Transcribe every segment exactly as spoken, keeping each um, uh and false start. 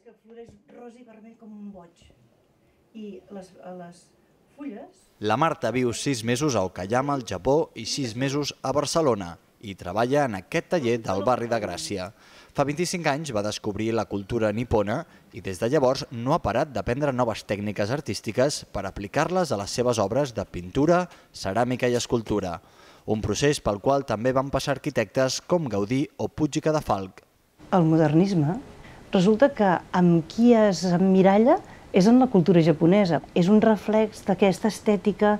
veig que floreix rosa i vermell com un boig. I les, les fulles... La Marta viu sis mesos a Okayama, al Japó, i sis mesos a Barcelona, i treballa en aquest taller del barri de Gràcia. Fa vint-i-cinc anys va descobrir la cultura nipona i des de llavors no ha parat d'aprendre noves tècniques artístiques per aplicar-les a les seves obres de pintura, ceràmica i escultura. Un procés pel qual també van passar arquitectes com Gaudí o Puig i Cadafalch. El modernisme resulta que amb qui es emmiralla és en la cultura japonesa. És un reflex d'aquesta estètica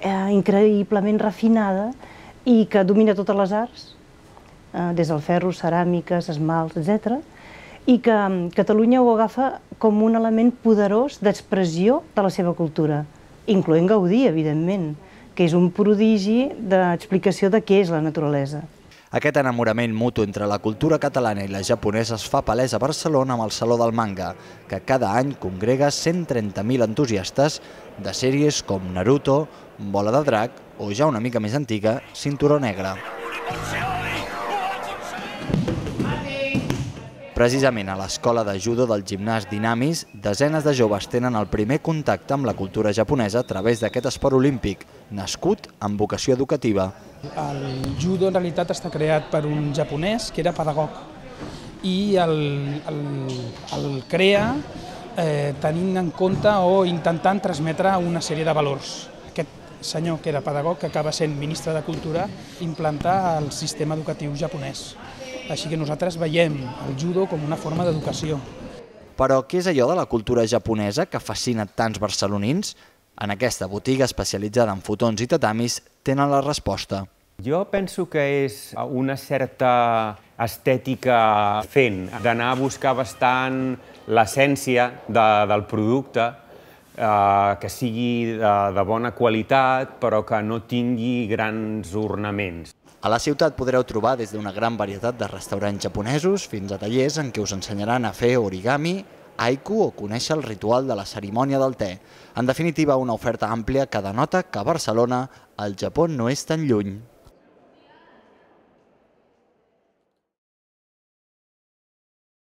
eh, increïblement refinada i que domina totes les arts, eh, des del ferro, ceràmiques, esmalts, etcètera, i que Catalunya ho agafa com un element poderós d'expressió de la seva cultura, incloent Gaudí, evidentment, que és un prodigi d'explicació de què és la naturalesa. Aquest enamorament mutu entre la cultura catalana i la japonesa es fa palès a Barcelona amb el Saló del Manga, que cada any congrega cent trenta mil entusiastes de sèries com Naruto, Bola de Drac o, ja una mica més antiga, Cinturó Negre. Precisament a l'escola de judo del gimnàs Dinamis, desenes de joves tenen el primer contacte amb la cultura japonesa a través d'aquest esport olímpic, nascut amb vocació educativa. El judo en realitat està creat per un japonès que era pedagog i el, el, el crea eh, tenint en compte o intentant transmetre una sèrie de valors. Aquest senyor que era pedagog, que acaba sent ministre de Cultura, implantar el sistema educatiu japonès. Així que nosaltres veiem el judo com una forma d'educació. Però què és allò de la cultura japonesa que fascina tants barcelonins? En aquesta botiga especialitzada en fotons i tatamis tenen la resposta. Jo penso que és una certa estètica fent, d'anar a buscar bastant l'essència de, del producte, eh, que sigui de, de bona qualitat, però que no tingui grans ornaments. A la ciutat podreu trobar des d'una gran varietat de restaurants japonesos fins a tallers en què us ensenyaran a fer origami, haiku o conèixer el ritual de la cerimònia del te. En definitiva, una oferta àmplia que denota que a Barcelona el Japó no és tan lluny.